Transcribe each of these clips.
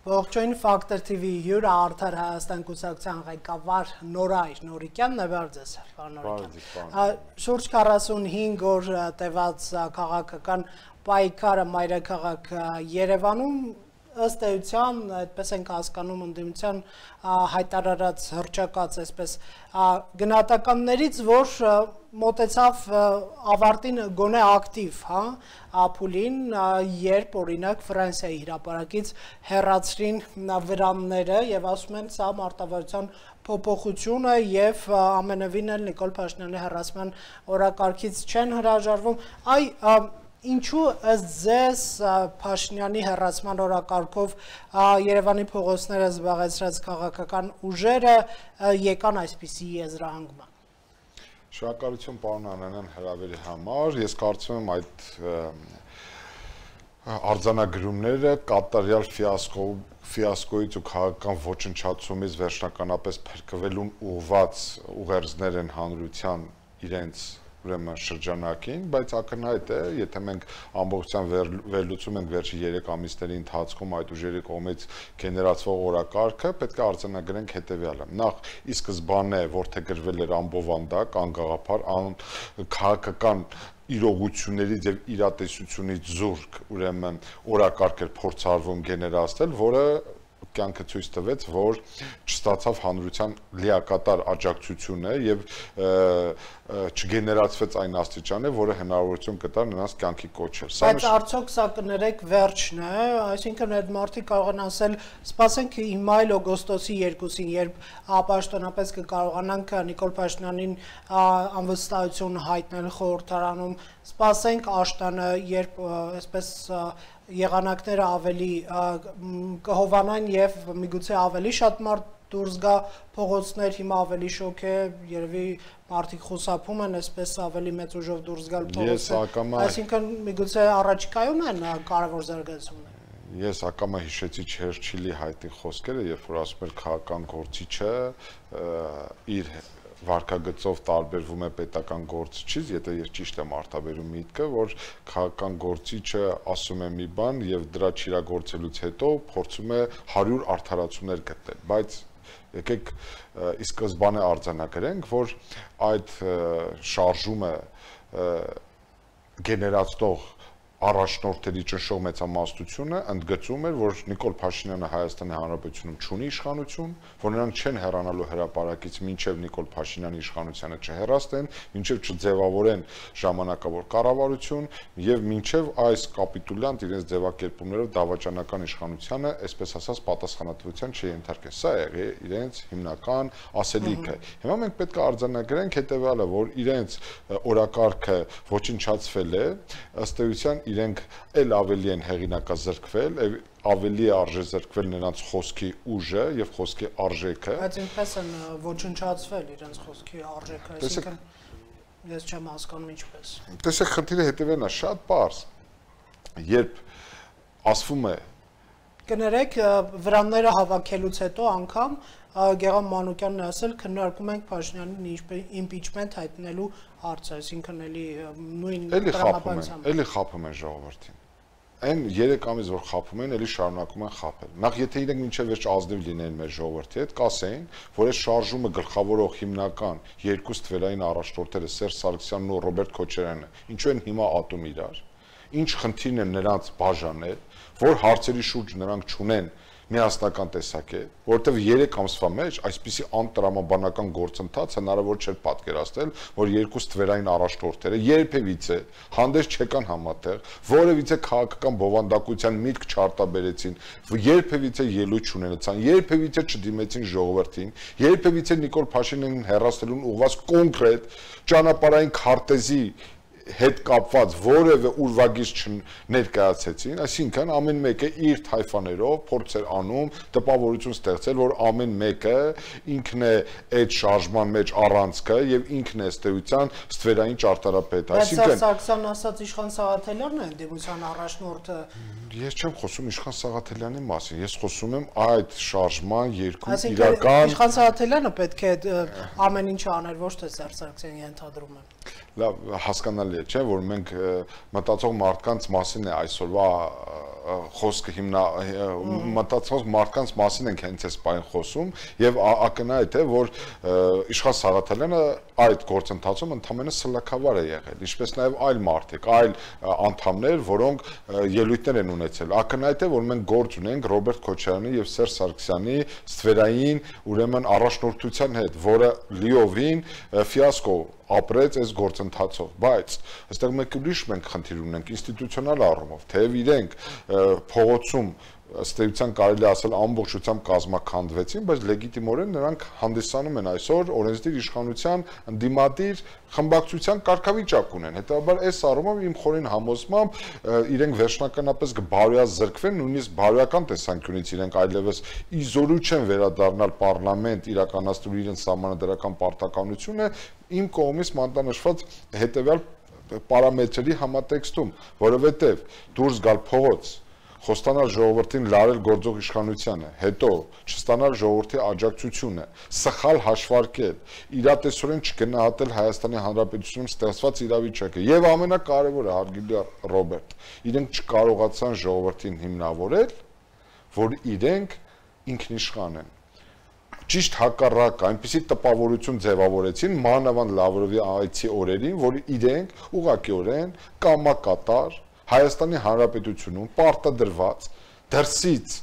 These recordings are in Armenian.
Ողջույն Factor TV հյուրը Արդար Հայաստան կուսակցության ղեկավար Նորայր Նորիկյանն է, բարձես շուրջ 45 օր տևած քաղաքական պայքարը մայրաքաղաք Երևանում ըստ էության, այդպես ենք հասկանում ընդդիմության հայտարարած հռչակած այսպես գնահատականներից, որ մոտեցավ ավարտին գոնե ակտիվ, փուլին, երբ օրինակ Ֆրանսիայի հրապարակից հեռացրին վրանները եւ ասում են սա մարտավարության փոփոխություն է եւ ամենևին էլ Նիկոլ Փաշինյանի հեռացման օրակարգից չեն հրաժարվում, Ինչու ըստ ձեզ Փաշինյանի հեռացման օրակարգով Երևանի փողոցները զբաղեցրած քաղաքական ուժերը եկան այսպիսի եզրահանգման։ Շնորհակալություն պարոն Անանյան հրավերի համար, ես կարծում եմ այդ արձանագրումները կատարյալ ֆիասկոից ու քաղաքական ոչնչացումից վերջնականապես փրկվելուն ուղղված ուղերձներ են հանրության իրենց շրջանակին, բայց ակնհայտ է, եթե մենք ամբողջությամբ վերլուծում ենք վերջի 3 ամիսների ընթացքում այդ ուժերի կողմից գեներացվող օրակարգը, պետք է արձանագրենք հետևյալը։ Նախ ի սկզբանե որդեգրվել էր անբովանդակ, անգաղափար, քաղաքական իրողություններից եւ իրատեսությունից զուրկ, ուրեմն օրակարգ էր փորձարվում գեներացնել, որը կյանքը ցույց տվեց, որ չստացավ հանրության լիակատար աջակցությունը եւ չգեներացվեց այն աստիճանը, որը հնարավորություն կտար նրանց կյանքի կոչել։ Բայց արդյոք սա կներեք վերջն է, այսինքն այդ մարդիկ կարող են ասել, սպասենք հիմա էլ օգոստոսի 2-ին, երբ պաշտոնապես կկարողանանք Նիկոլ Փաշինյանին անվստահություն հայտնել խորհրդարանում, սպասենք աշտանը, երբ այսպես եղանակները ավելի կհովանան եւ միգուցե ավելի շատ մարդ դուրս գա փողոցներ, հիմա ավելի շոկ է, երևի մարդիկ խուսափում են, այսպես ավելի մեծ ուժով դուրս գալ փողոցներ, այսինքն միգուցե առաջիկայում են կարևոր զարգացումներ։ Ես ակամա հիշեցի Չերչիլի հայտի խոսքերը, երբ որ ասում էր քաղաքական գործիչը իր վարկագծով տարբերվում է պետական գործիչից, եթե ես ճիշտ եմ արտաբերում միտքը, որ քաղաքական գործիչը ասում է մի բան եւ դրա չիրագործելուց հետո փորձում է 100 արդարացումներ գտնել, բայց եկեք ի սկզբանե արձանագրենք, որ այդ շարժումը գեներացնող առաջնորդների ճնշող մեծամասնությունը ընդգծում էր, որ Նիկոլ Փաշինյանը Հայաստանի Հանրապետությունում չունի իշխանություն, որ նրանք չեն հեռանալու հրապարակից մինչև Նիկոլ Փաշինյանի իշխանությանը չհեռացնեն, մինչև չձևավորեն ժամանակավոր կառավարություն եւ մինչև այս կապիտուլյանտ իրենց ձևակերպումներով դավաճանական իշխանությանը, այսպես ասած, պատասխանատվության չենթարկեն։ Սա է իրենց հիմնական ասելիքը։ Հիմա մենք պետք է արձանագրենք հետեւյալը, որ իրենց օրակարգը ոչնչացվել է, ըստ էության իրենք էլ ավելի են հեղինակազրկվել, ավելի արժեզրկվել նրանց խոսքի ուժը եւ խոսքի արժեքը։ Բայց ինչպես են ոչնչացվել իրենց խոսքի արժեքը, այսինքն ես չեմ հասկանում ինչպես։ Տեսեք, խնդիրը հետևն է, շատ պարզ։ Երբ ասվում է կներեք վրանները հավաքելուց հետո անգամ Գեղամ Մանուկյանն ասել քննարկում ենք Փաշինյանին իմպիչմենտ հայտնելու հարցը, այսինքն էլի նույն տրամաբանությամբ։ Էլի խափում են ժողովրդին։ Այն 3 ամիս որ խափում են, էլի շարունակում են խափել։ Նախ եթե իրենք մինչև վերջ ազնիվ լինեին մեր ժողովրդի հետ, կասեին, որ այս շարժումը գլխավորող հիմնական երկու ստվերային առաջնորդները Սերժ Սարգսյանն ու Ռոբերտ Քոչարյանը, ինչու են հիմա ատում իրար։ Ինչ խնդիրն է նրանց բաժանել, որ հարցերի շուրջ նրանք չունեն միասնական տեսակ է, որովհետև 3 ամսվա մեջ այսպիսի անտրամաբանական գործընթաց հնարավոր չէր պատկերացնել, որ երկու ստվերային առաջնորդները երբևիցե հանդես չեկան համատեղ, որևիցե քաղաքական բովանդակության միտք չարտաբերեցին, երբևիցե ելույթ չունեցան, երբևիցե չդիմեցին ժողովրդին, երբևիցե Նիկոլ Փաշինյանին հեռացնելուն ուղղված կոնկրետ ճանապարհային քարտեզի հետ կապված որևէ ուրվագիծ չներկայացեցին, այսինքն ամեն մեկը իր թայֆաներով փորձ էր անում տպավորություն ստեղծել, որ ամեն մեկը ինքն է այդ շարժման մեջ առանցքը եւ ինքն է ըստ էության ստվերային ճարտարապետը, այսինքն Սարգսյանն ասած Իշխան Սաղաթելյանն է դեմության առաջնորդը։ Ես չեմ խոսում Իշխան Սաղաթելյանի մասին, ես խոսում եմ այդ շարժման երկու իրական Իշխան Սաղաթելյանը պետք է ամեն ինչ աներ, ոչ թե Սերժ Սարգսյանը ենթադրում եմ։ Լավ, հասկանալի է, չէ՞, որ մենք մտածող մարդկանց մասին է այսօրվա խոսքը մտածող մարդկանց մասին ենք հենց այս բանը խոսում եւ ակնհայտ է, որ Իշխան Սաղաթելյանը այդ գործընթացում ընդամենը սլաքավար է եղել, ինչպես նաեւ այլ մարդիկ, այլ անդամներ, որոնք ելույթներ են ունեցել։ Ակնհայտ է, որ մենք գործ ունենք Ռոբերտ Քոչարյանի եւ Սերժ Սարգսյանի ստվերային ուրեմն առաջնորդության հետ, որը լիովին ֆիասկո ապրեց այս գործընթացով, բայց այստեղ մեկ ուրիշ մենք խնդիր ունենք ինստիտուցիոնալ առումով, թեև իրենք փողոցում ըստ էության կարելի ասել ամբողջությամբ կազմաքանդվեցին, բայց լեգիտիմորեն նրանք հանդիսանում են այսօր օրենսդիր իշխանության ընդդիմադիր խմբակցության կարգավիճակ ունեն։ Հետևաբար այս առումով իմ խորին համոզմամբ իրենք վերջնականապես կբարոյազրկվեն, նույնիսկ բարոյական տեսանկյունից իրենք այլևս իզորու չեն վերադառնալ պարլամենտ իրականացնելու իրենց սահմանադրական պարտականությունը իմ կողմից մանտանշված հետևյալ պարամետրերի համատեքստում, որովհետև դուրս գալ փողոց խոստանալ ժողովրդին լարել գործող իշխանությանը, հետո չստանալ ժողովրդի աջակցությունը, սխալ հաշվարկել, իրատեսորեն չգնահատել Հայաստանի Հանրապետությունում ստեղծված իրավիճակը եւ ամենակարևորը հարգելի Ռոբերտ, իրենք չկարողացան ժողովրդին հիմնավորել, որ իրենք ինքնիշխան են։ Ճիշտ հակառակը, այնպիսի տպավորություն ձևավորեցին մանավանդ Լավրովի այցի օրերին, որ իրենք ուղղակիորեն կամակատար Հայաստանի Հանրապետությունում պարտադրված դրսից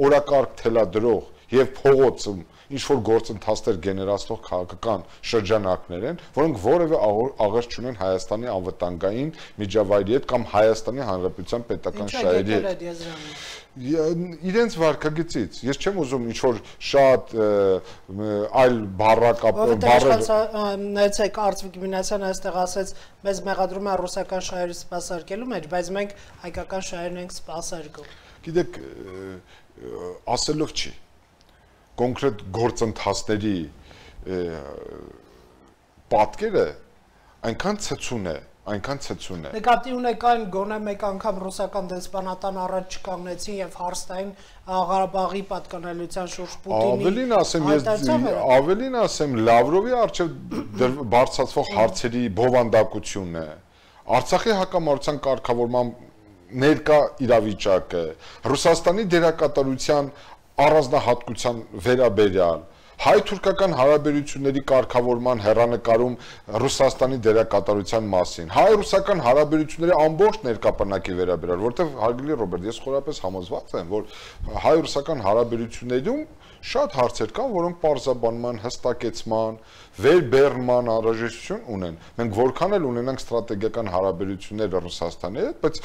օրակարգ թելադրող եւ փողոցում ինչ որ գործընթացներ գեներացնող քաղաքական շրջանակներ են, որոնք որևէ աղերս չունեն Հայաստանի անվտանգային միջավայրի հետ կամ Հայաստանի Հանրապետության պետական շահերի հետ։ Իրենց վարկագծից ես չեմ ուզում ինչ որ շատ այլ նայեցեք Արծվիկ Մինասյանը այստեղ ասեց մեզ մեղադրում է ռուսական շահերի սպասարկելու մեջ, բայց մենք հայկական շահերն ենք սպասարկում։ Գիտեք, ասելով չի կոնկրետ գործընթացների պատկերը այնքան ցցուն է Նկատի ունեք այն գոնե մեկ անգամ ռուսական դեսպանատան առաջ չկանգնեցին եւ հարստային Ղարաբաղի պատկանելիության շուրջ Պուտինի ավելին ասեմ Լավրովի արչեւ բարձրացվող հարցերի բովանդակությունը Արցախի հակամարտության կարգավորման ներկա իրավիճակը Ռուսաստանի դերակատարության առանձնահատկության վերաբերյալ հայ-թուրքական հարաբերությունների կարգավորման հեռանկարում Ռուսաստանի դերակատարության մասին, հայ-ռուսական հարաբերությունների ամբողջ ներկապնակի վերաբերյալ, որտեղ հարգելի Ռոբերտ, ես խորապես համոզված եմ, որ հայ-ռուսական հարաբերություններում շատ հարցեր կան, որոնք պարզաբանման, հստակեցման, վերբեռնման անհրաժեշտություն ունեն։ Մենք որքան էլ ունենանք ստրատեգիական հարաբերություններ Ռուսաստանի հետ, բայց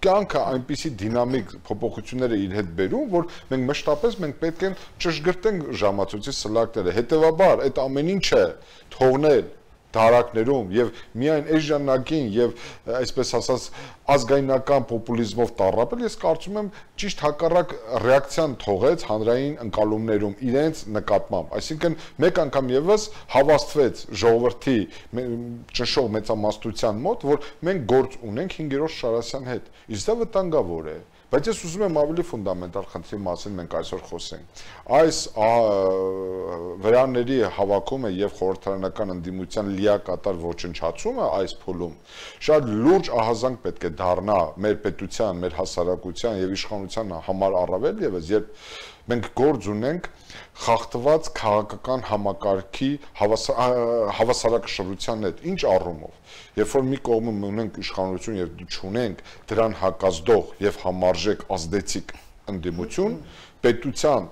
կյանքը այնպիսի դինամիկ փոփոխություններ է իր հետ բերում, որ մենք մշտապես պետք է ճշգրտենք ժամացույցի սլակները։ Հետևաբար այդ ամեն ինչը թողնել դարակներում եւ միայն այս ժամանակին եւ այսպես ասած ազգայնական պոպուլիզմով տառապել, ես կարծում եմ ճիշտ հակառակ ռեակցիան թողեց հանրային ընկալումներում իրենց նկատմամբ, այսինքն մեկ անգամ եւս հավաստվեց ժողովրդի ճնշող մեծամասնության մոտ, որ մենք գործ ունենք 5-րդ Շարասյան հետ, իսկ դա վտանգավոր է։ Բայց ես ուզում եմ ավելի ֆունդամենտալ խնդրի մասին մենք այսօր խոսենք։ Այս վրանների հավաքումը եւ խորհրդարանական ընդդիմության լիակատար ոչնչացումը այս փուլում շատ լուրջ ահազանգ պետք է դառնա մեր պետության, մեր հասարակության եւ իշխանության համար առավել եւս, երբ մենք գործ ունենք խախտված քաղաքական համակարգի հավասարակշռության հետ, ինչ առումով, երբ որ մի կողմում ունենք իշխանություն եւ չունենք դրան հակազդող եւ համարժեք ազդեցիկ ընդդիմություն, պետության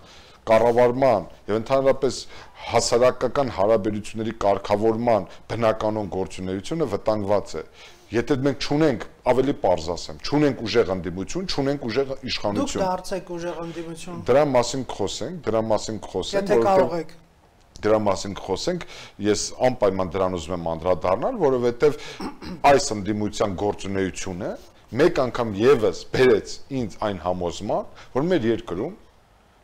կառավարման եւ ընդհանրապես հասարակական հարաբերությունների կարգավորման բնականon գործունեությունը վտանգված է։ Եթե մենք չունենք, ավելի պարզ ասեմ, չունենք ուժեղ ընդդիմություն, չունենք ուժեղ իշխանություն։ Դուք դարձեք ուժեղ ընդդիմություն։ Դրա մասին խոսենք, Եթե կարող եք։ դրա մասին կխոսենք, ես անպայման դրան ուզում եմ անդրադառնալ, որովհետև այս ընդդիմության գործունեությունը մեկ անգամ եւս բերեց ինձ այն համոզման, որ մեր երկրում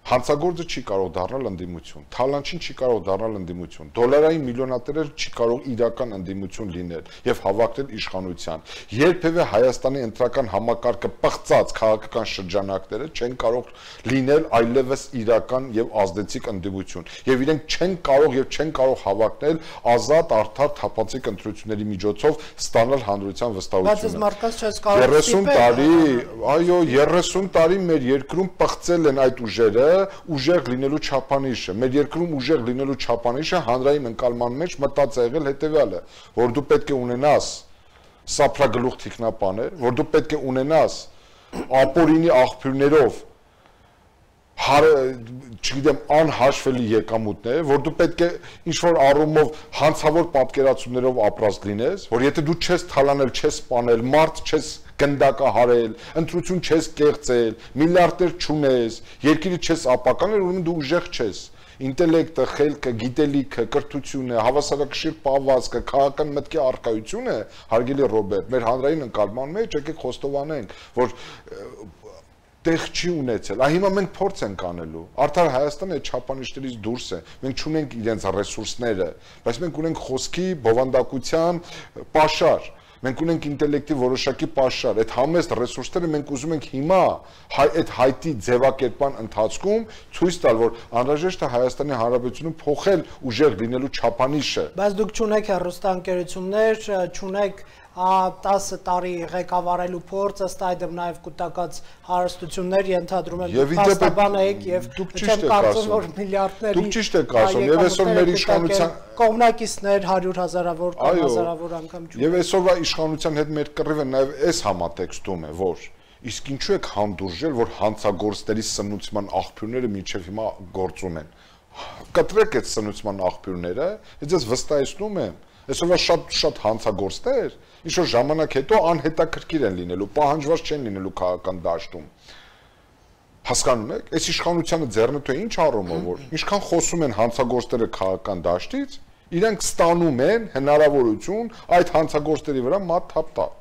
հանցագործը չի կարող դառնալ ընդդիմություն, թալանչին չի կարող դառնալ ընդդիմություն, դոլարային միլիոնատերը չի կարող իրական ընդդիմություն լինել եւ հավակնել իշխանության։ Երբևէ Հայաստանի ընտրական համակարգը պղծած քաղաքական շրջանակները չեն կարող լինել այլևս իրական եւ ազդեցիկ ընդդիմություն։ Եվ իրենք չեն կարող հավակնել ազատ, արդար, թափանցիկ ընտրությունների միջոցով ստանալ հանրության վստահությունը։ Բայց այս մարդկանց չես կարող 30 տարի, այո, 30 տարի մեր երկրում պղծել են այդ ուժերը ուժեղ լինելու չափանիշը, մեր երկրում ուժեղ լինելու չափանիշը հանրային ընկալման մեջ մտած է եղել հետևյալը, որ դու պետք է ունենաս սափրագլուխ թիկնապաներ, որ դու պետք է ունենաս ապօրինի աղբյուրներով չգիտեմ անհաշվելի եկամուտներ, որ դու պետք է ինչ-որ առումով հանցավոր պատկերացումներով ապրած լինես, որ եթե դու չես թալանել, չես սպանել, մարդ չես գնդակահարել, ընտրություն չես կեղծել, միլիարդներ չունես, երկիրը չես ապականել, ուրեմն դու ուժեղ չես։ Ինտելեկտը, խելքը, գիտելիքը, կրթությունը, հավասարակշիռ պահվածքը, քաղաքական մտքի առկայությունը, հարգելի Ռոբերտ, մեր հանրային ընկալման մեջ եկեք խոստովանենք, որ տեղ չի ունեցել։ Հիմա մենք փորձ ենք անելու։ Արդար Հայաստանը այդ չափանիշներից դուրս է։ Մենք չունենք իրենց ռեսուրսները, բայց մենք ունենք խոսքի, բովանդակության պաշար։ Մենք ունենք ինտելեկտի որոշակի պաշար, այդ համեստ ռեսուրսները մենք ուզում ենք հիմա այդ հայտի ձևակերպման ընթացքում ցույց տալ, որ անհրաժեշտ է Հայաստանի Հանրապետությունում փոխել ուժեղ լինելու չափանիշը։ Բայց դուք չունեք հեռուստաընկերություններ, չունեք 10 տարի ղեկավարելու փորձ, ըստ այդմ նաև կուտակած հարստություններ ենթադրում եմ փաստաբան եք եւ չեմ կարծում որ միլիարդների դուք ճիշտ եք ասում եւ այսօր մեր իշխանության կողմնակիցներ 100,000-ավոր կամ 1000-ավոր անգամ չունեն եւ այսօրվա իշխանության հետ մեր կռիվը նաեւ այս համատեքստում է որ իսկ ինչու եք հանդուրժել որ հանցագործների սնուցման աղբյուրները մինչեւ հիմա գործում են կտրեք այդ սնուցման աղբյուրները ես ձեզ վստահեցնում եմ այսօրվա շատ հանցագործներ ինչ-որ ժամանակ հետո անհետաքրքիր են լինելու, պահանջված չեն լինելու քաղաքական դաշտում։ Հասկանում եք, այս իշխանությանը ձեռնտու է ինչ առումով, որ ինչքան խոսում են հանցագործները քաղաքական դաշտից, իրենք ստանում են հնարավորություն այդ հանցագործների վրա մատ թափ տալ։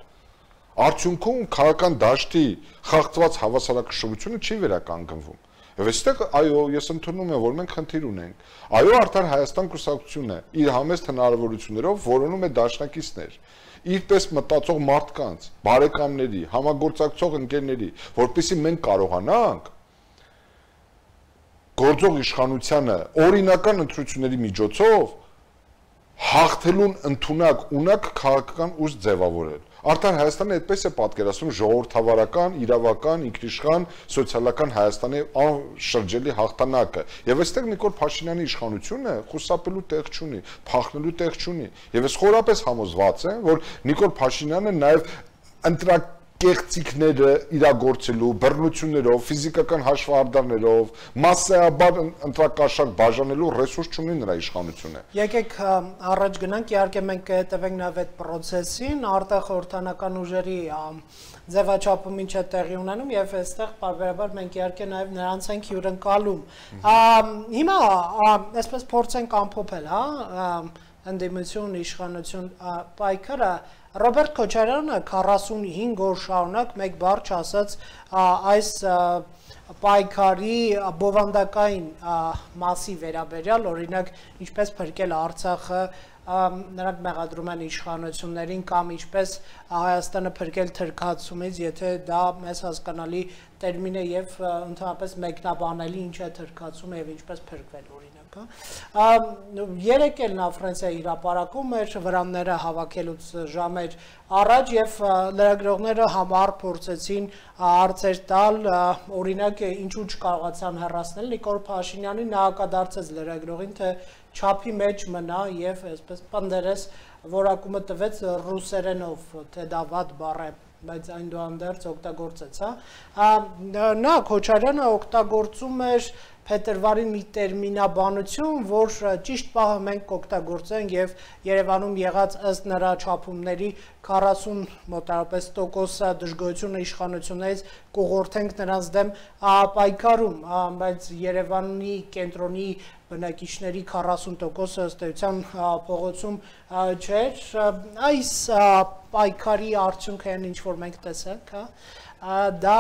Արդյունքում քաղաքական դաշտի խախտված հավասարակշռությունը չի վերականգնվում։ Եվ այստեղ այո, ես ընդունում եմ, որ մենք խնդիր ունենք։ Այո, արդար Հայաստան կուսակցությունը իր համեստ հնարավորություններով որոնում է դաշնակիցներ, իր պես մտածող մարդկանց, բարեկամների, համագործակցող ընկերների, որպեսզի մենք կարողանանք գործող իշխանությանը օրինական ընտրությունների միջոցով հաղթելուն ընդունակ ունակ քաղաքական ուժ ձևավորել։ Արդար Հայաստանը այդպես է պատկերացնում ժողովրդավարական, իրավական, ինքնիշխան, սոցիալական Հայաստանի շրջելի հաղթանակը։ Եվ այստեղ Նիկոլ Փաշինյանի իշխանությունը խուսափելու տեղ չունի, փախնելու տեղ չունի։ Եվ ես խորապես համոզված եմ, որ Նիկոլ Փաշինյանը նաև կեղծիքները իրագործելու, բռնություններով, ֆիզիկական հաշվառդարներով, մասսայաբար ընտրակաշառք բաժանելու ռեսուրս չունի նրա իշխանությունը։ Եկեք առաջ գնանք, իհարկե մենք կհետևենք նաև այդ process-ին, արտախորհրդանական ուժերի ձևաչափում ինչ է տեղի ունենում եւ այստեղ բարբերաբար մենք իհարկե նաև նրանց ենք հյուրընկալում։ Հիմա այսպես փորձենք ամփոփել, ընդդիմություն, իշխանություն պայքարը Ռոբերտ Քոչարյանը 45 օր շարունակ մեկ բառ չասաց այս պայքարի բովանդակային մասի վերաբերյալ, օրինակ ինչպես փրկել Արցախը, նրանք մեղադրում են իշխանություններին կամ ինչպես Հայաստանը փրկել թրքացումից, եթե դա մեզ հասկանալի տերմին է եւ ընդհանրապես մեկնաբանելի ինչ է թրքացումը եւ ինչպես փրկվել օրինակ։ Երեկ էլ նա Ֆրանսիայի հրապարակում էր վրանները հավաքելուց ժամեր առաջ եւ լրագրողները համառ փորձեցին հարցեր տալ, օրինակ ինչու չկարողացան հեռացնել Նիկոլ Փաշինյանին, նա հակադարձեց լրագրողին, թե չափի մեջ մնա եւ այսպես պնդերես որակումը տվեց ռուսերենով, թե դա վատ բառ է, բայց այնուհանդերձ օգտագործեց, Նա Քոչարյանը օգտագործում էր փետրվարին մի տերմինաբանություն, որ ճիշտ պահը մենք կօգտագործենք եւ Երևանում եղած ըստ նրա չափումների 40 մոտավորապես տոկոս դժգոհությունը իշխանություններից կուղղորդենք նրանց դեմ պայքարում, բայց Երևանի կենտրոնի բնակիչների 40%-ը ըստ էության փողոցում չէր, այս պայքարի արդյունքը այն ինչ որ մենք տեսանք, դա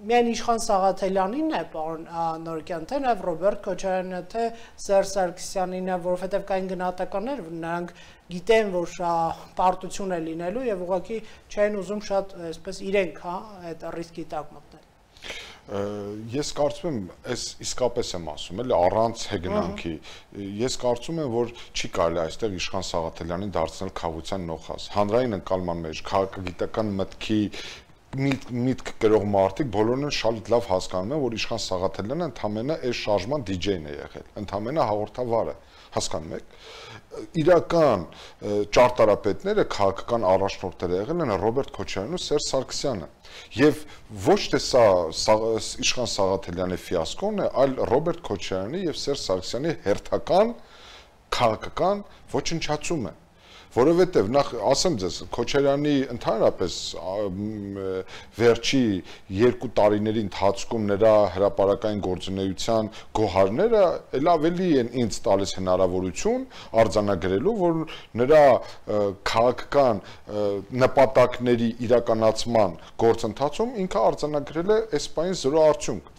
միայն Իշխան Սաղաթելյանին է, պարոն Նորոկյան, թե նաև Ռոբերտ Քոչարյանին, թե Սերժ Սարգսյանին, որովհետև կային գնահատականներ, նրանք գիտեն, որ պարտություն է լինելու եւ ուղղակի չեն ուզում շատ այսպես իրենք, այդ ռիսկի տակ մտնել։ Ես կարծում եմ, այս իսկապես եմ ասում, էլի առանց հեգնանքի, ես կարծում եմ, որ չի կարելի այստեղ Իշխան Սաղաթելյանին դարձնել քաղաքության նոխազ։ Հանրային ընկալման մեջ, քաղաքագիտական մտքի միտք կրող մարդիկ բոլորն են շատ լավ հասկանում են, որ Իշխան Սաղաթելյանը ընդամենը այս շարժման DJ-ն է եղել, ընդամենը հաղորդավարը, հասկանում եք։ Իրական ճարտարապետները, քաղաքական առաջնորդները եղել են Ռոբերտ Քոչարյանն ու Սերժ Սարգսյանը։ Եվ ոչ թե սա Իշխան Սաղաթելյանի ֆիասկոն է, այլ Ռոբերտ Քոչարյանի եւ Սերժ Սարգսյանի հերթական քաղաքական ոչնչացումը։ Որովհետև նախ ասեմ ձեզ, Քոչարյանի ընդհանրապես վերջի 2 տարիների ընթացքում նրա հրապարակային գործունեության գոհարները էլ ավելի են ինձ տալիս հնարավորություն արձանագրելու, որ նրա քաղաքական նպատակների իրականացման գործընթացում ինքը արձանագրել է այս պահին 0 արդյունք։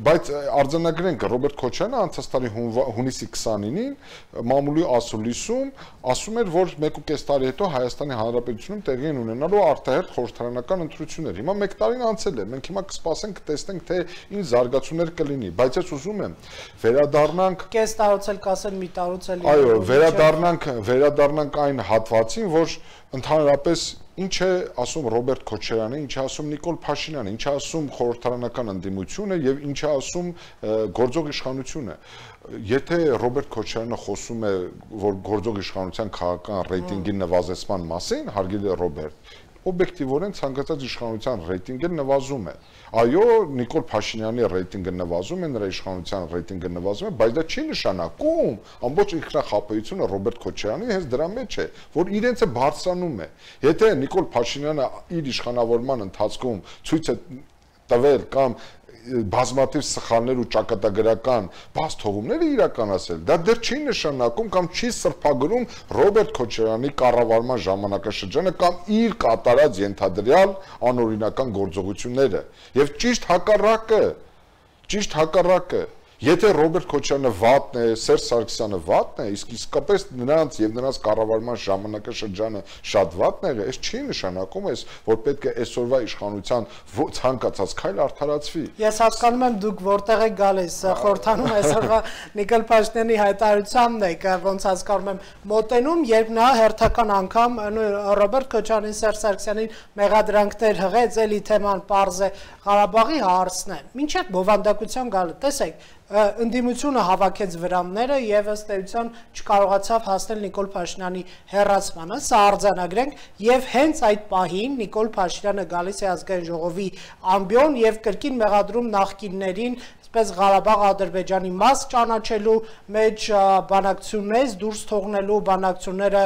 Բայց արձանագրենք Ռոբերտ Քոչարյանը անցած տարի հունիսի 29-ին մամուլի ասուլիսում ասում էր, որ 1.5 տարի հետո Հայաստանի Հանրապետությունում տեղի են ունենալու արտահերթ խորհրդարանական ընտրություններ։ Հիմա 1 տարին անցել է, մենք հիմա կսպասենք, կտեսնենք, թե ինչ զարգացումներ կլինի, բայց ես ուզում եմ վերադառնանք կես տարուց էլ կասեն մի տարուց էլ այո, վերադառնանք այն հատվածին, որ ընդհանրապես ինչ է ասում Ռոբերտ Քոչարյանը, ինչ է ասում Նիկոլ Փաշինյանը, ինչ է ասում խորհրդարանական ընդդիմությունը եւ ինչ է ասում գործող իշխանությունը։ Եթե Ռոբերտ Քոչարյանը խոսում է, որ գործող իշխանության քաղաքական ռեյտինգի նվազեցման մասին, հարգելի Ռոբերտ, օբյեկտիվորեն ցանկացած իշխանության ռեյտինգը նվազում է։ Այո, Նիկոլ Փաշինյանի ռեյտինգը նվազում է, նրա իշխանության ռեյտինգը նվազում է, բայց դա չի նշանակում ամբողջ ինքնախապեյությունը Ռոբերտ Քոչարյանի հենց դրա մեջ է, որ իրենցը բարձրանում է։ Եթե Նիկոլ Փաշինյանը իր իշխանավորման ընթացքում ցույց է տվել կամ բազմաթիվ սխալներ ու ճակատագրական բաց թողումներ իրականացել, դա դեռ չի նշանակում կամ չի սրբագրում Ռոբերտ Քոչարյանի կառավարման ժամանակաշրջանը կամ իր կատարած ենթադրյալ անօրինական գործողությունները։ Եվ ճիշտ հակառակը, եթե Ռոբերտ Քոչարյանը վատն է, Սերժ Սարգսյանը վատն է, իսկ իսկապես նրանց եւ նրանց կառավարման ժամանակաշրջանը շատ վատն է, այս չի նշանակում, որ պետք է այսօրվա իշխանության ցանկացած քայլ արդարացվի։ Ես հասկանում եմ դուք որտեղ եք գալիս, խորհրդանում այսօրվա Նիկոլ Փաշինյանի հայտարարությանն եք, ոնց հասկանում եմ, մոտենում, երբ նա հերթական անգամ Ռոբերտ Քոչարյանին, Սերժ Սարգսյանին մեղադրանքներ հղեց, էլի թեման պարզ է, Ղարաբաղի հարցն է։ Մինչև բովանդակության գալը, տեսեք, ընդդիմությունը հավաքեց վրանները եւ ըստ էության չկարողացավ հասնել Նիկոլ Փաշինյանի հեռացմանը, սա արձանագրենք եւ հենց այդ պահին Նիկոլ Փաշինյանը գալիս է ազգային ժողովի ամբիոն եւ կրկին մեղադրում նախկիններին Պես Ղարաբաղ Ադրբեջանի մաս ճանաչելու մեջ բանակցություններից դուրս թողնելու բանակցությունները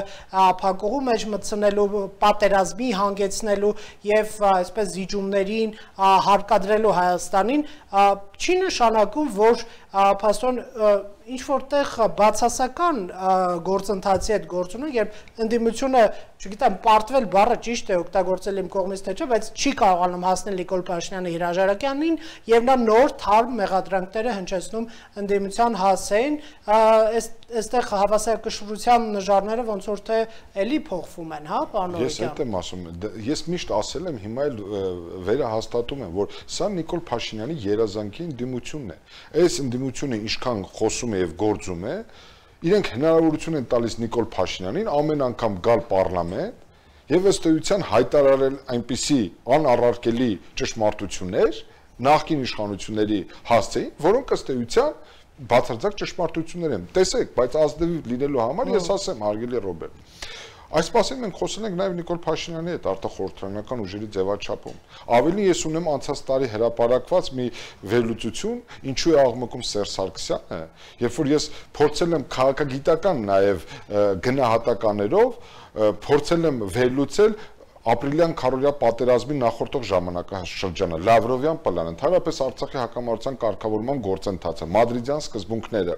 փակուղու մեջ մտցնելու պատերազմի հանգեցնելու եւ այսպես զիջումներին հարկադրելու Հայաստանին չի նշանակում, որ փաստորեն ինչ որտեղ բացասական գործընթացի հետ գործ ունեն, երբ ընդդիմությունը, չգիտեմ, պարտվել բառը ճիշտ է օգտագործել իմ կողմից թե չէ, բայց չի կարողանում հասնել Նիկոլ Փաշինյանի հրաժարակյանին եւ նա նոր թարմ մեղադրանքները հնչեցնում ընդդիմության հասցեին, այստեղ հավասարակշռության նժարները ոնց որ թե էլի փոխվում են, հա, պարոն Նորոկյան։ Ես այդ եմ ասում, ես միշտ ասել եմ, հիմա էլ վերահաստատում եմ, որ սա Նիկոլ Փաշինյանի երազանքի ընդդիմությունն է։ Այս ընդդիմությունը ինչքան խոսում եւ գործում է, իրենք հնարավորություն են տալիս Նիկոլ Փաշինյանին ամեն անգամ գալ պարլամենտ եւ ըստ էության հայտարարել այնպիսի անառարկելի ճշմարտություններ նախկին իշխանությունների հասցեին, որոնք ըստ էության բացարձակ ճշմարտություններ են։ Տեսեք, բայց ազնիվ լինելու համար ես ասեմ, հարգելի Ռոբերտ, Այս մասին մենք խոսել ենք նաև Նիկոլ Փաշինյանի հետ արտախորհրդարանական ուժերի ձևաչափում։ Ավելի ես ունեմ անցած տարի հրապարակված մի վերլուծություն, ինչու է աղմկում Սերժ Սարգսյանը, երբ որ ես փորձել եմ քաղաքագիտական նաև գնահատականներով փորձել եմ վերլուծել ապրիլյան քարորյա պատերազմի նախորդող ժամանակաշրջանը, Լավրովյան պլանը, ընդհանրապես Արցախի հակամարտության կարգավորման գործընթացը, մադրիդյան սկզբունքները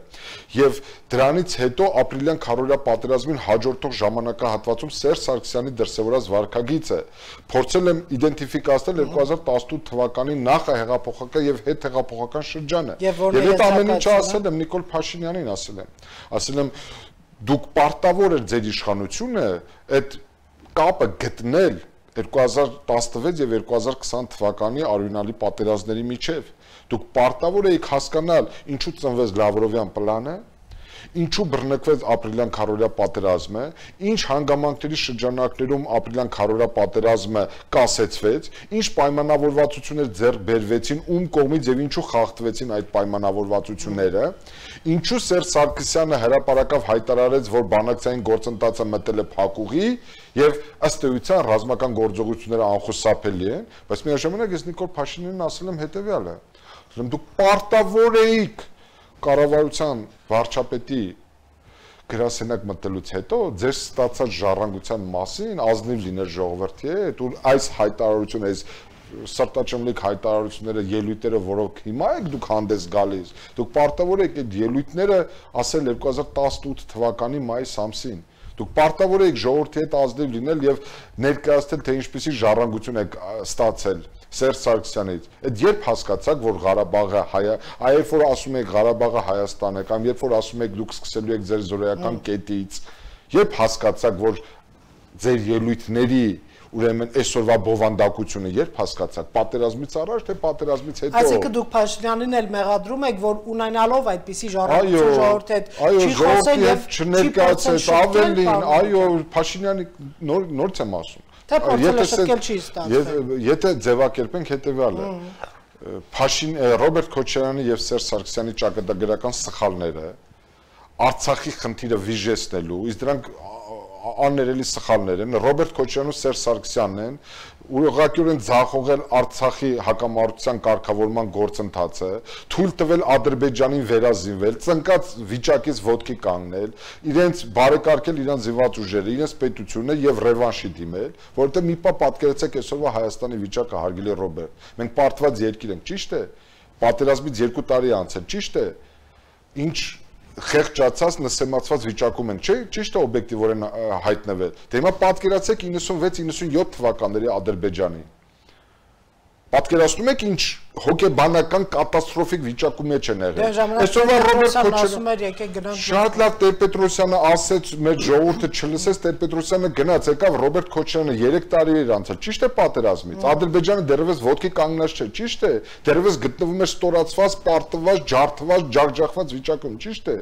եւ դրանից հետո ապրիլյան քարորյա պատերազմին հաջորդող ժամանակահատվածում Սերժ Սարգսյանի դրսևորած վարքագիծը փորձել եմ իդենտիֆիկացնել 2018 թվականի նախահեղափոխական եւ հետհեղափոխական շրջանը։ Եվ այդ ամեն ինչը ասել եմ Նիկոլ Փաշինյանին ասել եմ դուք պարտավոր եք ձեր իշխանությունը այդ կապը գտնել 2016 եւ 2020 թվականի արյունալի պատերազմների միջև։ Դուք պարտավոր եք հասկանալ ինչու ծնվեց Լավրովյան պլանը, ինչու բռնկվեց ապրիլյան քարորյա պատերազմը, ինչ հանգամանքների շրջանակներում ապրիլյան քարորյա պատերազմը կասեցվեց, ինչ պայմանավորվածություններ ձեռք բերվեցին, ում կողմից եւ ինչու խախտվեցին այդ պայմանավորվածությունները, ինչու Սերժ Սարգսյանը հրապարակավ հայտարարեց, որ բանակցային գործընթացը մտել է փակուղի եւ ըստ էության ռազմական գործողությունները անխուսափելի են, բայց միաժամանակ ես Նիկոլ Փաշինյանին ասել եմ հետեւյալը. դուք պարտավոր եք կառավարության վարչապետի գրասենյակ մտելուց հետո ձեր ստացած ժառանգության մասին ազնիվ լինել ժողովրդի հետ ու այս հայտարարությունը, այս սրտաճմլիկ հայտարարությունները, ելույթները, որոնք հիմա եք դուք հանդես գալիս, դուք պարտավոր եք այդ ելույթները ասել 2018 թվականի մայիս ամսին։ Դուք պարտավոր եք ժողովրդի հետ ազնիվ լինել եւ ներկայացնել, թե ինչպիսի ժառանգություն եք ստացել Սերժ Սարգսյանից։ Այդ երբ հասկացաք, որ Ղարաբաղը երբ որ ասում եք Ղարաբաղը Հայաստան է, կամ երբ որ ասում եք դուք սկսելու եք ձեր զորայական կետից, երբ հասկացաք, որ ձեր ելույթների ուրեմն այսօրվա բովանդակությունը երբ հասկացաք, պատերազմից առաջ թե պատերազմից հետո։ Այսինքն դուք Փաշինյանին էլ մեղադրում եք, որ ունենալով այդպիսի ժառանգություն ժողովրդի հետ չի խոսել եւ չներկայացել ավելին, այո, Փաշինյանի նորից եմ ասում։ Թե փորձել է շտկել չի ստացվել։ Եթե ձևակերպենք հետեւյալը, Ռոբերտ Քոչարյանի եւ Սերժ Սարգսյանի ճակատագրական սխալները Արցախի խնդիրը վիժեցնելու, իսկ դրանք աններելի սխալներ են, Ռոբերտ Քոչարյանն ու Սերժ Սարգսյանն են ուղղակիորեն ձախողել Արցախի հակամարտության կարգավորման գործընթացը, թույլ տվել Ադրբեջանին վերազինվել, ծնկած վիճակից ոտքի կանգնել, իրենց բարեկարգել իրենց զինված ուժերը, իրենց պետությունը եւ ռևանշի դիմել, որովհետեւ մի պա պատկերացեք այսօրվա Հայաստանի վիճակը, հարգելի Ռոբերտ, մենք պարտված երկիր ենք, ճիշտ է, պատերազմից 2 տարի անցել, ճիշտ է, ինչ խեղճացած նսեմացված վիճակում են, չէ՞, ճիշտ է օբյեկտիվորեն հայտնվել։ Դե հիմա պատկերացեք 96-97 թվականների Ադրբեջանի։ Պատկերացնում եք ինչ հոգեբանական կատաստրոֆիկ վիճակում մեջ են եղել։ Այսօրվա Ռոբերտ Քոչարյանը շատ լավ Տեր-Պետրոսյանը ասեց, մեր ժողովուրդը չլսեց, Տեր-Պետրոսյանը գնաց, եկավ Ռոբերտ Քոչարյանը 3 տարի էր անցել, ճիշտ է պատերազմից։ Ադրբեջանը դեռևս ոտքի կանգնած չէ, ճիշտ է։ Դեռևս գտնվում է ստորացված, պարտված, ջարդված, ջարդջախված վիճակում, ճիշտ է։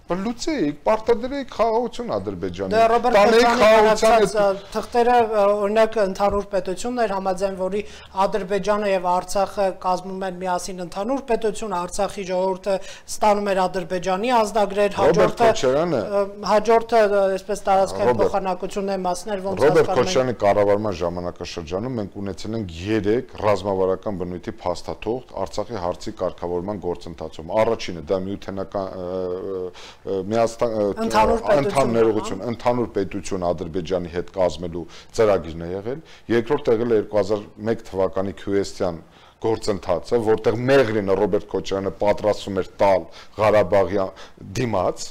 Բայց լուծեիք, պարտադրեիք խաղաղություն Ադրբեջանին։ Դե Ռոբերտ Քոչարյանի թղթերը օրինակ ընդհանուր պետությունն էր, համաձայն որի Ադրբեջանը եւ Արցախը կազմում են միասին ընդհանուր պետություն, Արցախի ժողովուրդը ստանում էր Ադրբեջանի ազգագրեր, հաջորդը այսպես տարածքային փոխանակությունների մասներ ոնց Ռոբերտ Քոչարյանի կառավարման ժամանակաշրջանում մենք ունեցել ենք 3 ռազմավարական բնույթի փաստաթուղթ Արցախի հարցի կարգավորման գործընթացում։ Առաջինը դա միութենական ընդհանուր պետություն Ադրբեջանի հետ կազմելու ծրագիրն է եղել, երկրորդ եղել է 2001 թվականի Քյուեսթյան գործընթացը, որտեղ Մեղրինը Ռոբերտ Քոչարյանը պատրաստվում էր տալ Ղարաբաղի դիմաց,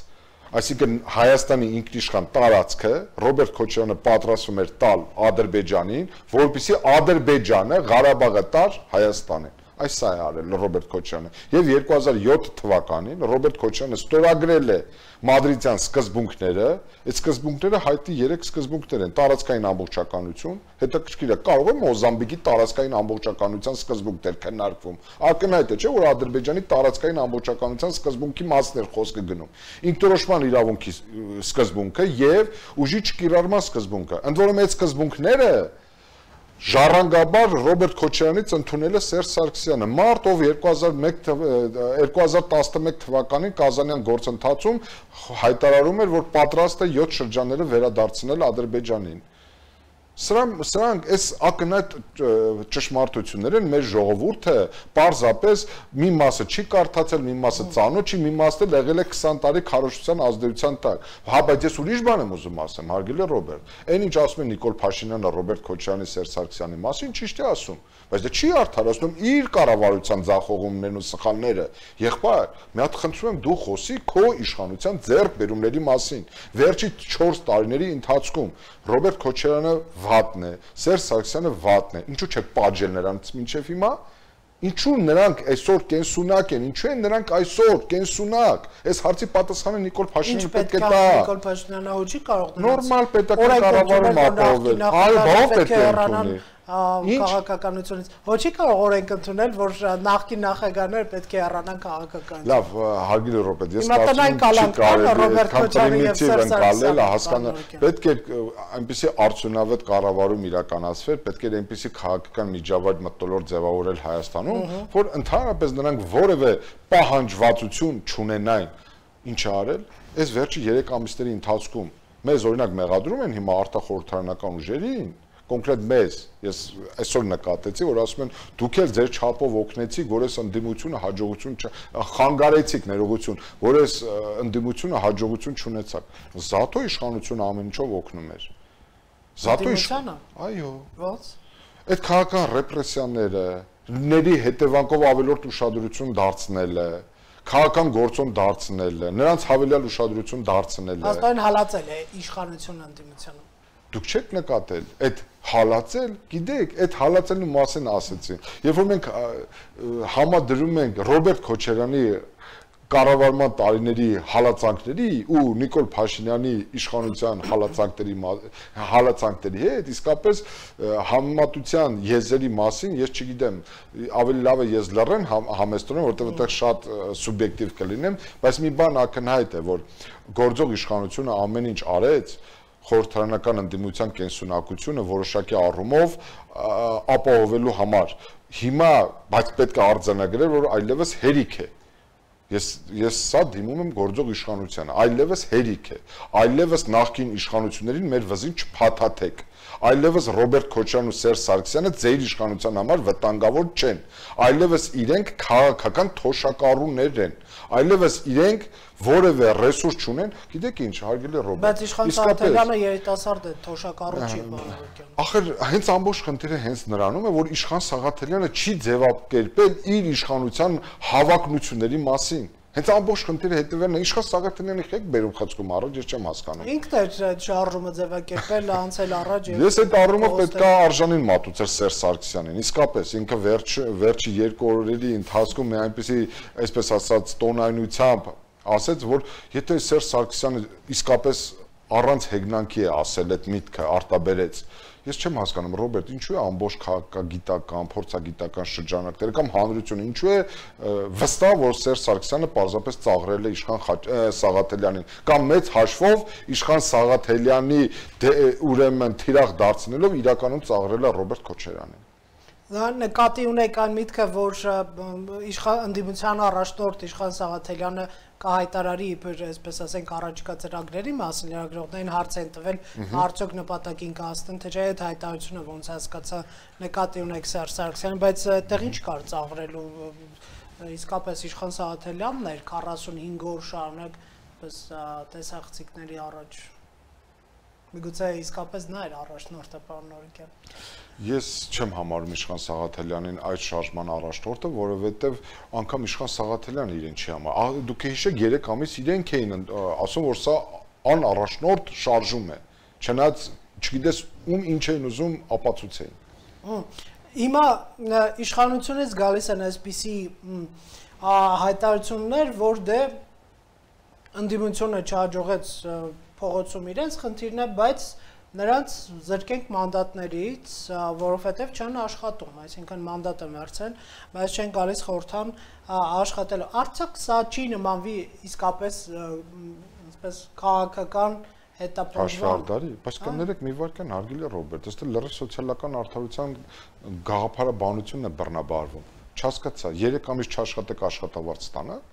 այսինքն Հայաստանի ինքնիշխան տարածքը Ռոբերտ Քոչարյանը պատրաստվում էր տալ Ադրբեջանին, որպեսզի Ադրբեջանը Ղարաբաղը տար Հայաստանին։ Այս սա է արել Ռոբերտ Քոչարյանը եւ 2007 թվականին Ռոբերտ Քոչարյանը ստորագրել է մադրիդյան սկզբունքները, այդ սկզբունքները հայտի 3 սկզբունքներ են՝ տարածքային ամբողջականություն, հետաքրքիր է, կարող է Մոզամբիկի տարածքային ամբողջականության սկզբունքներ քննարկվում։ Ակնհայտ է, չէ՞, որ Ադրբեջանի տարածքային ամբողջականության սկզբունքի մասն է խոսքը գնում։ Ինքնորոշման իրավունքի սկզբունքը եւ ուժի չկիրառման սկզբունքը։ Ընդ որում այդ սկզբունքները ժառանգաբար Ռոբերտ Քոչարյանից ընդունել է Սերժ Սարգսյանը։ Մարտ ով 2011 թվականին Կազանյան գործընթացում հայտարարում էր, որ պատրաստ է 7 շրջանները վերադարձնել Ադրբեջանին։ Սրանք այս ակնհայտ ճշմարտություններ են, մեր ժողովուրդը պարզապես մի մասը չի կարդացել, մի մասը ծանոթ չի, մի մասը եղել է 20 տարի քարոզչության ազդեցության տակ։ Հա, բայց ես ուրիշ բան եմ ուզում ասեմ, հարգելի Ռոբերտ։ Այն ինչ ասում է Նիկոլ Փաշինյանը Ռոբերտ Քոչարյանի, Սերժ Սարգսյանի մասին, ճիշտ է ասում, բայց դա չի արդարացնում իր կառավարության ձախողումներն ու սխալները։ Եղբայր, մի հատ խնդրում եմ դու խոսի քո իշխանության ձեռքբերումների մասին։ Վերջի 4 տարիների ընթացքում Ռոբերտ Քոչարյանը վատն է, Սերժ Սարգսյանը վատն է։ Ինչու՞ չեք պատժել նրանց մինչև հիմա։ Ինչու նրանք այսօր կենսունակ են, ինչու են նրանք այսօր կենսունակ։ Այս հարցի պատասխանը Նիկոլ Փաշինյանը պետք է տա։ Նիկոլ Փաշինյանը հոչի կարող դրանց։ Նորմալ պետական կառավարում ապահովել։ Այո, բավ պետք է ընդունի։ Քաղաքականությունից ոչի կարող օրենք ընդունել, որ նախկին նախագահները պետք է առանան քաղաքականություն։ Լավ, հարգելի Ռոբերտ, ես կարծում պետք է այնպեսի արդյունավետ կառավարում իրականացվեր, պետք է այնպեսի քաղաքական միջավայր մթնոլորտ ձևավորել Հայաստանում, որ ընդհանրապես նրանք որևէ պահանջվածություն չունենային։ Ինչ արել, այս վերջի 3 ամիսների ընթացքում մեզ օրինակ մեղադրում են հիմա արտախորհրդարանական ուժերին, կոնկրետ մեզ, ես այսօր նկատեցի, որ ասում են դուք էլ ձեր չափով օգնեցիք, որ այս ընդդիմությունը հաջողություն խանգարեցիք ներողություն, որ այս ընդդիմությունը հաջողություն չունեցաք։ Զատո իշխանությունը ամեն ինչով օգնում էր։ Զատո իշխանը։ Այո։ Ո՞նց։ Այդ քաղաքական ռեպրեսիաները, ների հետևանքով ավելորդ ուշադրություն դարձնելը, քաղաքական գործոն դարձնելը, նրանց հավելյալ ուշադրություն դարձնելը։ Աստորեն հալածել է իշխանությունը ընդդիմությանը։ Դուք չեք նկատել, այդ հալածել, գիտեք, այդ հալածելու մասին ասեցին։ Երբ որ մենք համադրում ենք Ռոբերտ Քոչարյանի կառավարման տարիների հալածանքների ու Նիկոլ Փաշինյանի իշխանության հալածանքների հետ, իսկապես համեմատության եզրերի մասին ես չգիտեմ, ավելի լավ է ես լռեմ համեստորեն, որտեղ այդտեղ շատ սուբյեկտիվ կլինեմ, բայց մի բան ակնհայտ է, որ գործող իշխանությունը ամեն ինչ արեց խորհրդարանական ընդդիմության կենսունակությունը որոշակի առումով ապահովելու համար։ Հիմա բայց պետք է արձանագրել, որ այլևս հերիք է։ Ես սա դիմում եմ գործող իշխանությանը, այլևս հերիք է, այլևս նախկին իշխանություններին մեր վզին չփաթաթեք, այլևս Ռոբերտ Քոչարյանն ու Սերժ Սարգսյանը ձեր իշխանության համար վտանգավոր չեն, այլևս իրենք քաղաքական թոշակառուներ են, այլևս իրենք որևէ ռեսուրս չունեն, գիտեք ինչ, հարգելի Ռոբերտ։ Բայց իշխան Սարգսյանը երիտասարդ է, թոշակառու չի բանալուկյան։ Ախր հենց ամբողջ խնդիրը հենց նրանում է, որ իշխան Սաղաթելյանը չի ձևակերպել իր իշխանության հավակնությունների մասին։ Հենց ամբողջ խնդիրը հետևելն է, իշխան Սաղաթելյանի եք բերում խցկում առաջ, ես չեմ հասկանում։ Ինքն է այդ շարժումը ձևակերպել, անցել առաջ։ Ես այդ առումով պետք է արժանին մատուցել Սերժ Սարգսյանին։ Իսկապես ինքը վերջի 2 օրերի ընթացքում մի այնպեսի, այսպես ասած, տոնայնությամբ ասեց, որ եթե Սերժ Սարգսյանը իսկապես առանց հեգնանքի է ասել այդ միտքը, արտաբերեց։ Ես չեմ հասկանում, Ռոբերտ, ինչու է ամբողջ քաղաքագիտական, փորձագիտական շրջանակները կամ հանրությունը, ինչու է վստահ, որ Սերժ Սարգսյանը պարզապես ծաղրել է իշխան Սաղաթելյանին, կամ մեծ հաշվով իշխան Սաղաթելյանի ուրեմն թիրախ դարձնելով իրականում ծաղրել է Ռոբերտ Քոչարյանին։ Նկատի ունեք այն միտքը, որ ընդդիմության առաջնորդ իշխան Սաղաթելյանը կհայտարարի իբր, այսպես ասենք, առաջիկա ծրագրերի մասին, լրագրողներին հարց են տվել, արդյոք նպատակին կհասնեն, թե չէ այդ հայտարարությունը ոնց հասկացա նկատի ունեք Սերժ Սարգսյանին, բայց այդտեղ ինչ կար ծաղրելու, իսկապես իշխան Սաղաթելյանն էր 45 օր շարունակ տեսախցիկների առաջ։ Միգուցե իսկապես նա էր առաջնորդը, պարոն Նորիկյան։ Ես չեմ համարում իշխան Սաղաթելյանին այդ շարժման առաջնորդը, որովհետև անգամ իշխան Սաղաթելյանը իրեն չի համարում։ Դուք հիշեք 3 ամիս իրենք էին ասում, որ սա անառաջնորդ շարժում է։ Չնայած չգիտես ում ինչ էին ուզում ապացուցեին։ Հիմա իշխանությունից գալիս են այսպիսի հայտարարություններ, որ դե ընդդիմությունը չհաջողեց փողոցում իրենց խնդիրն է, բայց նրանց զրկենք մանդատներից, որովհետև չեն աշխատում, այսինքն մանդատը մերցեն, բայց չեն գալիս խորհրդան աշխատելու։ Արդյոք սա չի նմանվի իսկապես այսպես քաղաքական հետապնդվան։ Բայց կներեք մի վարքան հարգելի Ռոբերտ, ըստ լրիվ սոցիալական արդարության գաղափարաբանությունն է բռնաբարվում։ Չհասկացա, 3 ամիս չաշխատեք աշխատավարձ ստանաք։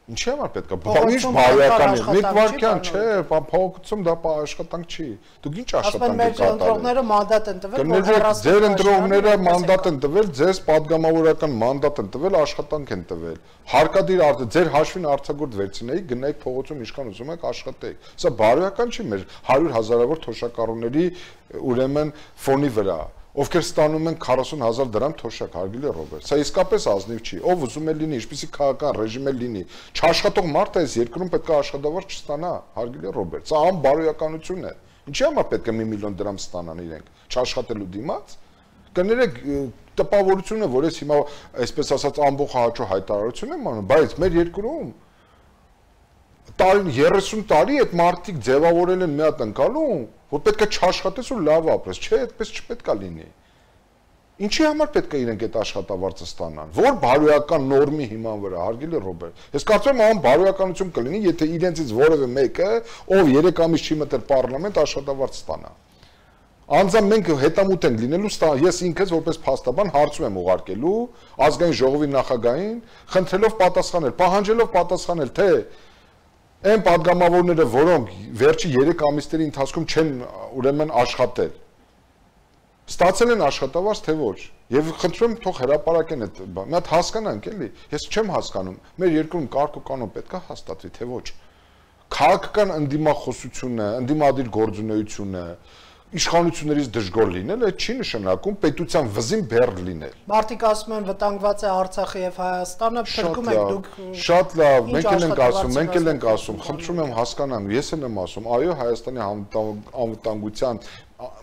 Ինչի՞ համար պետք է։ Ինչ բարոյական է։ Մի վարքան չէ, փոխում դա աշխատանք չի։ Դուք ինչ աշխատանք եք կատարել։ Ընտրողները մանդատ են տվել, որ ձեր ընտրողները մանդատ են տվել, ձեզ падգամավորական մանդատ են տվել, աշխատանք են տվել։ Հարկադիր ձեր հաշվին արձակուրդ վերցնեիք, գնայիք փողոցում ինչքան ուզում եք աշխատեիք։ Սա բարոյական չի մեր 100,000-ավոր թոշակառուների ուրեմն ֆոնի վրա, ովքեր ստանում են 40,000 դրամ թոշակ, հարգելի Ռոբերտ։ Սա իսկապես ազնիվ չի։ Ով ուզում է լինի, ինչպեսի քաղաքական ռեժիմ է լինի, չաշխատող մարդը այս երկրում պետք է աշխատավարձ չստանա, հարգելի Ռոբերտ։ Սա անբարոյականություն է։ Ինչի՞ համար պետք է 1 միլիոն դրամ ստանան իրենք, չաշխատելու դիմաց։ Կներեք տպավորությունը, որ ես հիմա այսպես ասած ամբողջ հաճո հայտարարություն եմ անում, բայց մեր երկրում 30 տարի այդ մարդիկ ձևավորել են մի հատ ընկալում, որ պետք է չաշխատես ու լավ ապրես, չէ, այդպես չպետք է լինի։ Ինչի համար պետք է իրենք այդ աշխատավարձը ստանան, որ բարոյական նորմի հիման վրա, հարգելի Ռոբերտ։ Ես կարծում եմ բարոյականություն կլինի, եթե իրենցից որևէ մեկը, ով 3 ամիս չի մտել պարլամենտ, աշխատավարձ ստանա։ Անձամբ մենք հետամուտ ենք լինելու, ես ինքս որպես փաստաբան հարցում եմ ուղարկելու ազգային ժողովի նախագահին, խնդրելով պատասխանել, պահանջելով պատասխանել, թե այն падգամավորները, որոնք վերջի 3 ամիսների ընթացքում չեն ուրեմն աշխատել, ստացել են աշխատավարձ, թե ոչ։ Եվ խնդրում եմ թող հրապարակեն այդ բանը։ Մի հատ հասկանանք էլի։ Ես չեմ հասկանում, մեր երկրում կարգ ու կանոն պետք է հաստատվի, թե ոչ։ Քաղաքական ընդդիմախոսությունը, ընդդիմադիր գործունեությունը, իշխանություններից դժգոհ լինել, այդ չի նշանակում պետության վզին բեռ լինել։ Մարդիկ ասում են վտանգված է Արցախը եւ Հայաստանը, փրկում եք դուք։ Շատ լավ, մենք էլ ենք ասում, խնդրում եմ հասկանամ, ես էլ եմ ասում, այո, Հայաստանի անվտանգության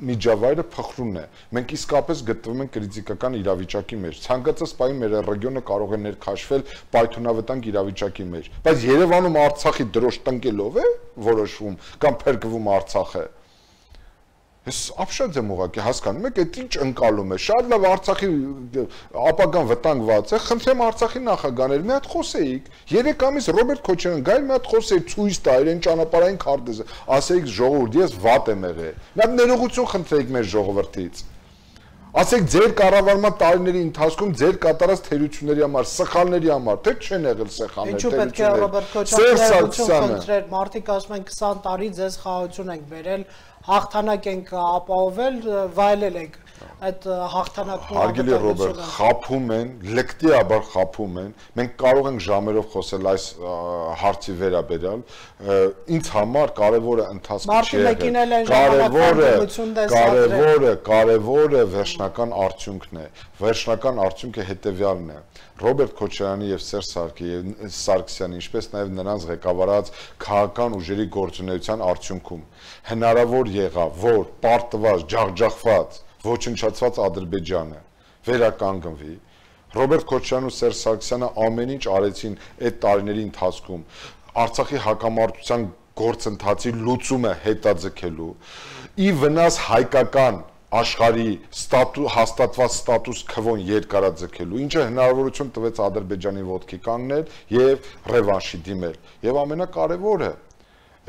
միջավայրը փխրուն է։ Մենք իսկապես գտնվում ենք կրիտիկական իրավիճակի մեջ։ Ցանկացած պահի մեր ռեգիոնը կարող է ներքաշվել պայթունավտանգ իրավիճակի մեջ։ Բայց Երևանում Արցախի դրոշ տնկելով է որոշվում կամ փրկվում Արցախը։ Ես ապշած եմ ուղղակի հասկանում եք, այդ ինչ ընկալում է։ Շատ լավ Արցախի ապագան վտանգված է, խնդրեմ Արցախի նախագահներ մի հատ խոսեիք։ 3 ամիս Ռոբերտ Քոչարյան գայր մի հատ խոսեիք, ցույց տա իրեն ճանապարհային քարտեզը, ասեիք ժողովուրդ, ես վատ եմ եղել։ Մի հատ ներողություն խնդրեիք մեր ժողովրդից։ Ասեք ձեր կառավարման տարիների ընթացքում ձեր կատարած թերությունների համար, սխալների համար, թե չեն եղել սխալներ, ինչու պետք է Ռոբերտ Քոչարյանը խնդրեր, մարդիկ ասում են 20 տարի ձեզ խաղաղություն ենք բերել, հաղթանակ ենք ապահովել, վայելել ենք այդ հաղթանակն։ Հարգելի Ռոբերտ, խափում են, լեկտիաբար խափում են։ Մենք կարող ենք ժամերով խոսել այս հարցի վերաբերյալ։ Ինձ համար կարևորը ընթացքը չէ։ Կարևորը վերջնական արդյունքն է։ Վերջնական արդյունքը հետևյալն է։ Ռոբերտ Քոչարյանի եւ Սերժ Սարգսյանի, ինչպես նաեւ նրանց ղեկավարած քաղաքական ուժերի գործունեության արդյունքում հնարավոր եղավ, որ պարտված, ջախջախված, ոչնչացված Ադրբեջանը վերականգնվի։ Ռոբերտ Քոչարյանն ու Սերժ Սարգսյանը ամեն ինչ արեցին այդ տարիների ընթացքում Արցախի հակամարտության գործընթացի լուծումը հետաձգելու, ի վնաս հայկական աշխարհի հաստատված ստատուս քվոն երկարաձգելու, ինչը հնարավորություն տվեց Ադրբեջանի ոտքի կանգնել եւ ռևանշի դիմել։ Եվ ամենակարևորը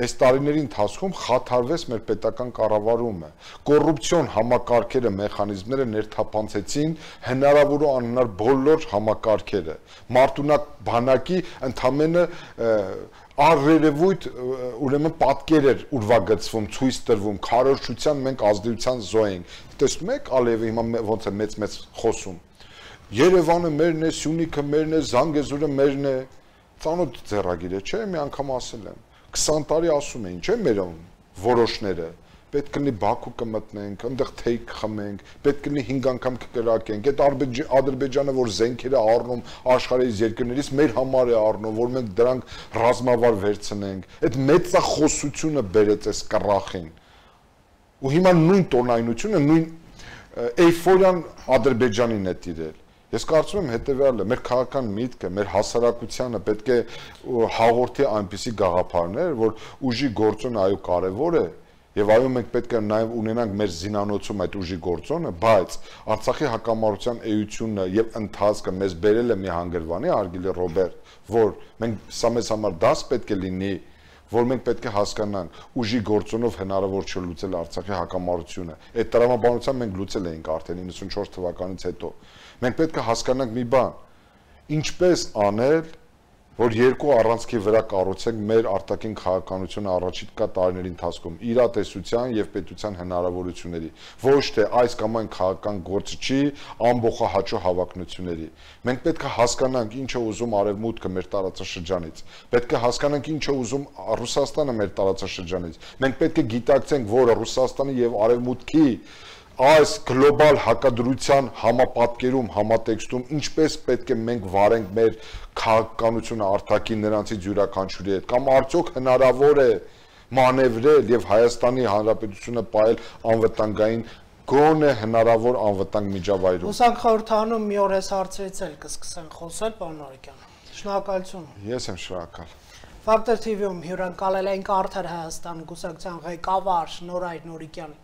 այս տարիների ընթացքում խաթարվեց մեր պետական կառավարումը։ Կոռուպցիոն համակարգերը, մեխանիզմները ներթափանցեցին հնարավոր ու անհնար բոլոր համակարգերը։ Մարտունակ բանակի ընդամենը առերևույթ ուրեմն պատկեր էր ուրվագծվում, ցույց տրվում, քարոզչության մենք ազդեցության զոհ ենք։ Տեսնում եք Ալիևը հիմա ոնց է մեծ խոսում։ Երևանը մերն է, Սյունիքը մերն է, Զանգեզուրը մերն է։ Ծանոթ ձեռագիր է, չէ՞, մի անգամ ասել եմ։ 20 տարի ասում էին, չէ՞ մեր որոշները։ Պետք կլինի Բաքու կմտնենք, այնտեղ թեյք խմենք, պետք կլինի 5 անգամ կկրակենք։ Այդ Ադրբեջանը, որ զենքեր է առնում աշխարհի երկրներից, մեր համար է առնում, որ մենք դրանք ռազմավար վերցնենք։ Այդ մեծախոսությունը բերեց այս կռախին։ Ու հիմա նույն տոնայնությունը, նույն էյֆորիան Ադրբեջանին է տիրել։ Ես կարծում եմ հետևյալը, մեր քաղաքական միտքը, մեր հասարակությանը պետք է հաղորդի այնպիսի գաղափարներ, որ ուժի գործոնը այո կարևոր է, եւ այո մենք պետք է նաեւ ունենանք մեր զինանոցում այդ ուժի գործոնը, բայց Արցախի հակամարտության էությունը եւ ընթացքը մեզ բերել է մի հանգրվանի, հարգելի Ռոբերտ, որ մենք սա մեզ համար դաս պետք է լինի, որ մենք պետք է հասկանանք, ուժի գործոնով հնարավոր չէ լուծել Արցախի հակամարտությունը։ Այդ տրամաբանությամբ մենք լուծել էինք արդեն 94 թվականից հետո։ Մենք պետք է հասկանանք մի բան, ինչպես անել, որ երկու առանցքի վրա կառուցենք մեր արտաքին քաղաքականությունը առաջիկա տարիների ընթացքում իրատեսության եւ պետության հնարավորությունների, ոչ թե այս կամ այն քաղաքական գործչի ամբողջահաճո հավակնությունների։ Մենք պետք է հասկանանք ինչ է ուզում Արևմուտքը մեր տարածաշրջանից, պետք է հասկանանք ինչ է ուզում Ռուսաստանը մեր տարածաշրջանից։ Մենք պետք է գիտակցենք, որ Ռուսաստանի եւ Արևմուտքի այս գլոբալ հակադրության համապատկերում, համատեքստում ինչպես պետք է մենք վարենք մեր քաղաքականությունը արտաքին նրանցից յուրաքանչյուրի հետ, կամ արդյոք հնարավոր է մանևրել եւ Հայաստանի Հանրապետությունը պահել անվտանգային գոնե հնարավոր անվտանգ միջավայրում։ Ուսանք խորհրդանում մի օր այս հարցերից էլ կսկսեն խոսել, պարոն Նորիկյան։ Շնորհակալություն։ Ես եմ շնորհակալ։ Factor TV-ում հյուրընկալել ենք Արդար Հայաստան գուսակցության ղեկավար Նորայր Նորիկյան։